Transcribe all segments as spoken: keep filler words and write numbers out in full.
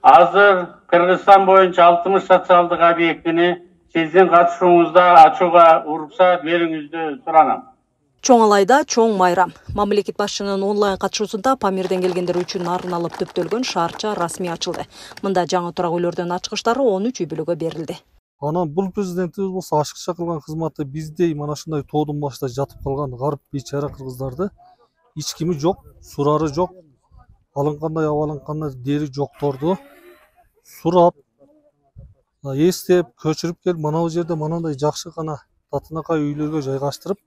Азыр Кыргызстан боюнча алтымыш социалдык объектини сиздин катышууңузда ачууга уруксат берүүңүздү суранам. Чоң алайда чоң майрам. Мамлекет башчынын онлайн катышуусунда Памирден келгендер үчүн арналып төптөлгөн шаарча расмий ачылды. Мында жаңы турак үйлөрдүн ачкычтары он үч үй бүлөгө берилди. Анан бул президентибиз болсо ашыкча кылган кызматы биздей мана ушундай тоодун башында жатып калган гарып бейчара кыргыздарды эч кими жок, сурары жок, алынкандай абалынкандай дери жокторду сурап, эстеп, көчүрүп келип мына бул жерде манандай жакшы гана татынакай үйлөргө жайгаштырып,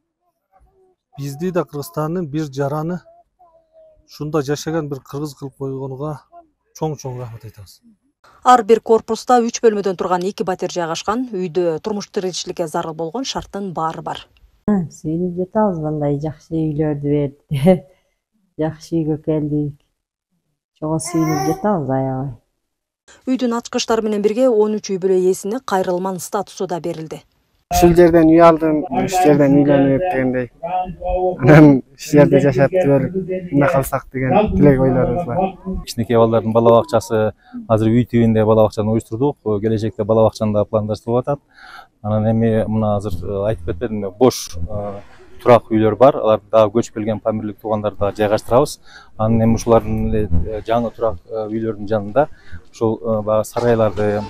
бизди да Кыргызстандын бир жараны ушунда жашаган бир кыргыз кылып койгонуга чоң-чоң рахмат айтабыз. Ар бир корпуста үч бөлмөдөн турган эки батир жайгашкан, үйдө турмуш тиричиликке зарыл болгон шарттын баары бар. Сүйүнүп жатабыз, мындай жакшы үйлөрдү берди. Жакшы үйгө келдик. Чого сүйүнүп жатабыз аябай. Үйдүн ачкычтары менен бирге он үч үй бүлө ээсине кайрылман статусу да берилди. Ушул жерден үй алдым, ушул жерден үйлөнүп дегендей. Анан ушул жерде жашап түгөл мына калсак деген тилек ойлорубуз бар. Кичинекей балдардын бала бакчасы азыр үй тибинде бала бакчаны уюштурдук. Келечекте бала бакчаны да пландаштырылып атат. Анан эми мына азыр айтып кетпедимби, бош турак үйлөр бар. Аларды дагы көчүп келген памирлик туугандарды да жайгаштырабыз. Анан эми ушулардын жаңы турак үйлөрдүн жанында ушул баягы сарайларды,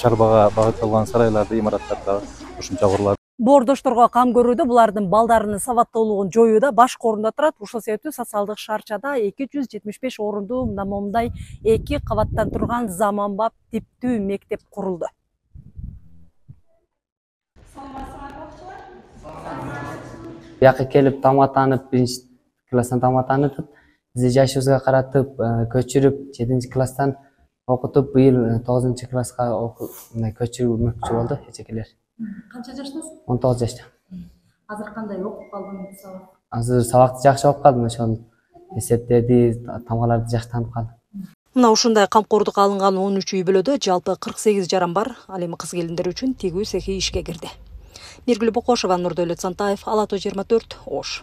чарбага багытталган сарайларды, имараттарды ушунча курулат. Боордошторго кам көрүүдө булардын балдарынын сабаттуулугун жоюуда башкы орунда турат. Ушул себептүү социалдык шаарчада эки жүз жетимиш беш орундуу мындай эки кабаттан турган заманбап типтүү мектеп курулду. Бияка келип тамактанып, биринчи класстан тамактанып, бизди жашыбызга каратып, көчүрүп, жетинчи класстан окутуп, быйыл тогузунчу класска мындай көчүрмөкчү болду эжекелер. Канча жаштасың? он тогуз жашта. Азыр кандай окуп калдың сабак? Азыр сабакты жакшы окуп калдым, ошол эсептерди, тамгаларды жакшы таанып калдым. Мына ушундай камкордукка алынган он үч үй бүлөдө жалпы кырк сегиз жаран бар. Ал эми кыз келиндер үчүн тигүү цехи ишке кирди. Миргүл Бокошова, Нурдөөлөт Сантаев, Ала тоо жыйырма төрт, Ош.